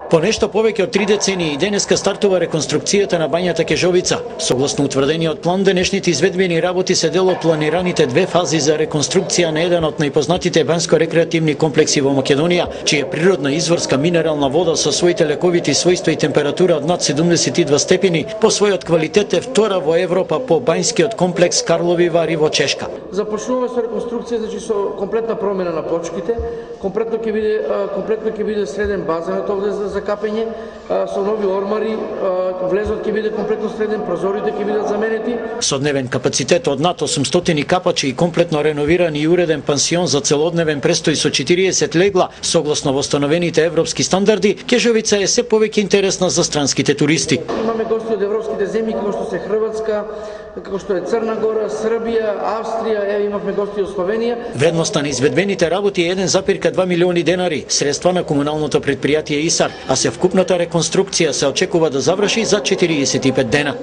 По нешто повеќе од 3 децении денеска стартува реконструкцијата на бањата Кежовица. Согласно утврдениот план, денешните изведбени работи се дел од планираните 2 фази за реконструкција на еден од најпознатите банјско-рекреативни комплекси во Македонија, чија природна изворска минерална вода со своите лековити својства и температура од над 72 степени по својот квалитет е втора во Европа по банјскиот комплекс Карлови Вари во Чешка. Започнуваме со реконструкција, значи со комплетна промена на почките, комплетно ќе биде среден базенот овде за капење, со нови ормари, влезот ќе биде комплетно среден, прозорите ќе бидат заменети. Со дневен капацитет од над 800 капачи и комплетно реновиран и уреден пансион за целодневен престој со 40 легла, согласно восстановените европски стандарди, Кежовица е се повеќе интересна за странските туристи. Имаме гости од европските земји, како што се Хрватска, како што е Црна Гора, Србија, Австрија, имавме гости од Словенија. Вредноста на изведбените работи е 1,2 милиони денари, средства на комуналното предпријатие ИСАР, а се вкупната реконструкција се очекува да заврши за 45 дена.